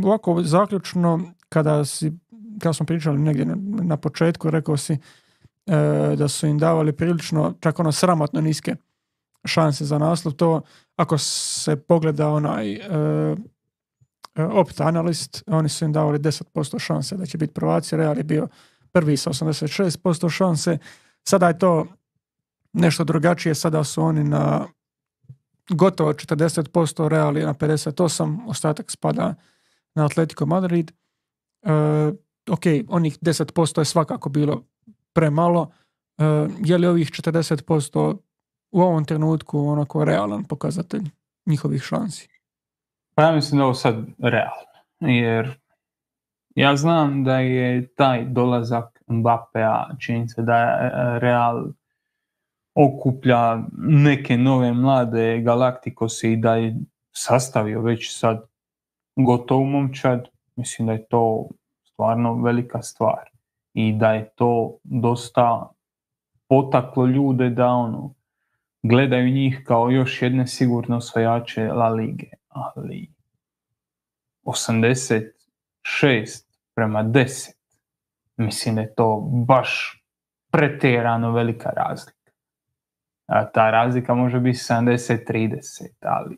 Ovako zaključno, kada smo pričali negdje na početku, rekao si da su im davali prilično, čak sramotno niske šanse za naslov. To ako se pogleda onaj Opta Analyst, oni su im davali 10% šanse da će biti prvaci. Real je bio prvi sa 86% šanse. Sada je to nešto drugačije, sada su oni na gotovo 40%, Real je na 58%, ostatak spada na Atletico Madrid. Ok, onih 10% je svakako bilo premalo. Je li ovih 40% u ovom trenutku onako realan pokazatelj njihovih šansi? Pa ja mislim da ovo sad realno, jer ja znam da je taj dolazak Mbappéa, čini se da je Real okuplja neke nove mlade galaktikose i da je sastavio već sad gotov momčad. Mislim da je to stvarno velika stvar i da je to dosta potaklo ljude da gledaju njih kao još jedne sigurno osvajače La Lige, ali 86:10, mislim da je to baš pretjerano velika razlika. Ta razlika može biti 70:30, ali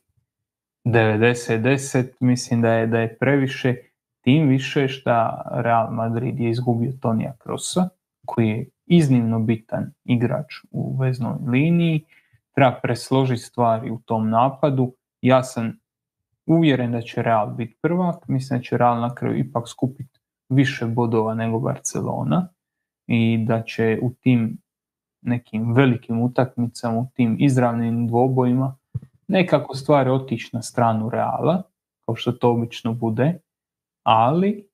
90:10 mislim da je previše, tim više što Real Madrid je izgubio Tonija Krosa, koji je iznimno bitan igrač u veznoj liniji, treba presložiti stvari u tom napadu. Ja sam uvjeren da će Real biti prvak, mislim da će Real na kraju ipak skupiti više bodova nego Barcelona i da će u tim nekim velikim utakmicama, u tim izravnim dvobojima nekako stvari otići na stranu Reala, kao što to obično bude, ali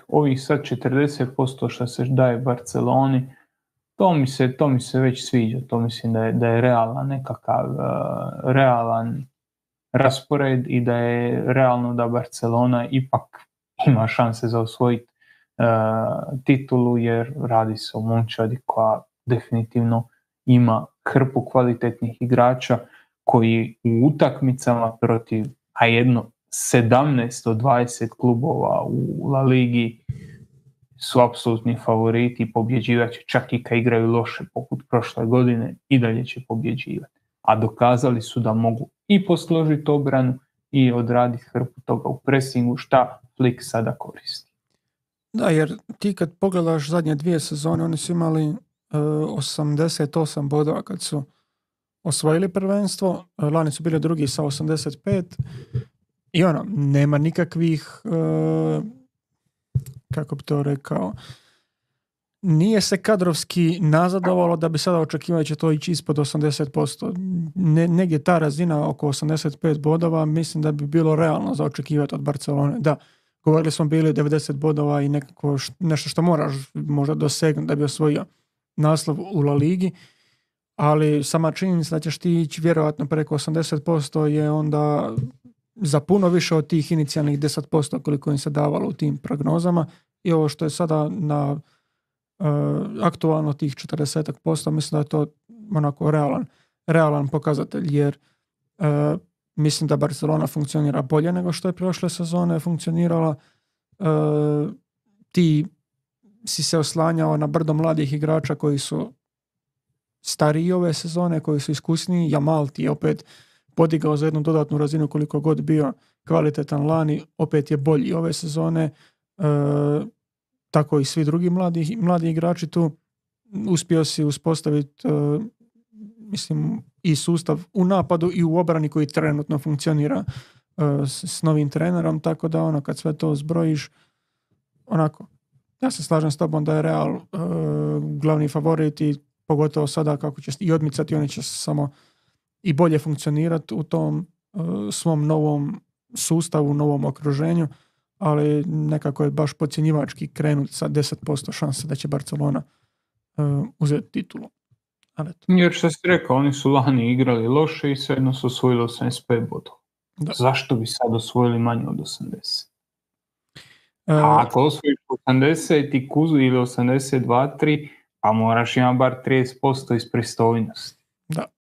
ovih sad 40% što se daje Barceloni, to mi se već sviđa, to mislim da je realan nekakav realan raspored i da je realno da Barcelona ipak ima šanse za osvojiti titulu, jer radi se o momčadi koja definitivno ima hrpu kvalitetnih igrača koji u utakmicama protiv jedno 17 od 20 klubova u La Ligi su apsolutni favoriti i pobjeđivat će, čak i kad igraju loše poput prošle godine i dalje će pobjeđivati. A dokazali su da mogu i posložiti obranu i odraditi hrpu toga u presingu, šta Flick sada koristi. Da, jer ti kad pogledaš zadnje 2 sezone, oni su imali 88 bodova kad su osvojili prvenstvo, lani su bili drugi sa 85 i nema nikakvih kako bi to rekao, nije se kadrovski nazadovalo da bi sada očekivali će to ići ispod 80%. Negdje ta razina oko 85 bodova mislim da bi bilo realno za očekivati od Barcelone. Da, govorili smo bili 90 bodova i nešto što moraš možda dosegnuti da bi osvojio naslov u La Ligi, ali sama činjenica da ćeš ti ići vjerojatno preko 80% je onda za puno više od tih inicijalnih 10% koliko im se davalo u tim prognozama i ovo što je sada na aktualno tih 40%, mislim da je to onako realan pokazatelj, jer mislim da Barcelona funkcionira bolje nego što je prošle sezone funkcionirala. Ti si se oslanjao na brdo mladih igrača koji su stariji ove sezone, koji su iskusniji. Jamal ti je opet podigao za jednu dodatnu razinu koliko god bio kvalitetan lani, opet je bolji ove sezone. Tako i svi drugi mladi igrači tu. Uspio si uspostaviti mislim i sustav u napadu i u obrani koji trenutno funkcionira s novim trenerom, tako da kad sve to zbrojiš, ja se slažem s tobom da je Real glavni favorit i pogotovo sada kako će i odmicati, oni će samo i bolje funkcionirati u tom svom novom sustavu, novom okruženju, ali nekako je baš podcjenjivački krenuti sa 10% šanse da će Barcelona uzeti titulu. Jer što si rekao, oni su lani igrali loše i svejedno su osvojili 85 bodova. Zašto bi sad osvojili manje od 80? A ako osvojiš 80 i kuzu ili 82-3, pa moraš imati bar 30% iz pristojnosti. Da,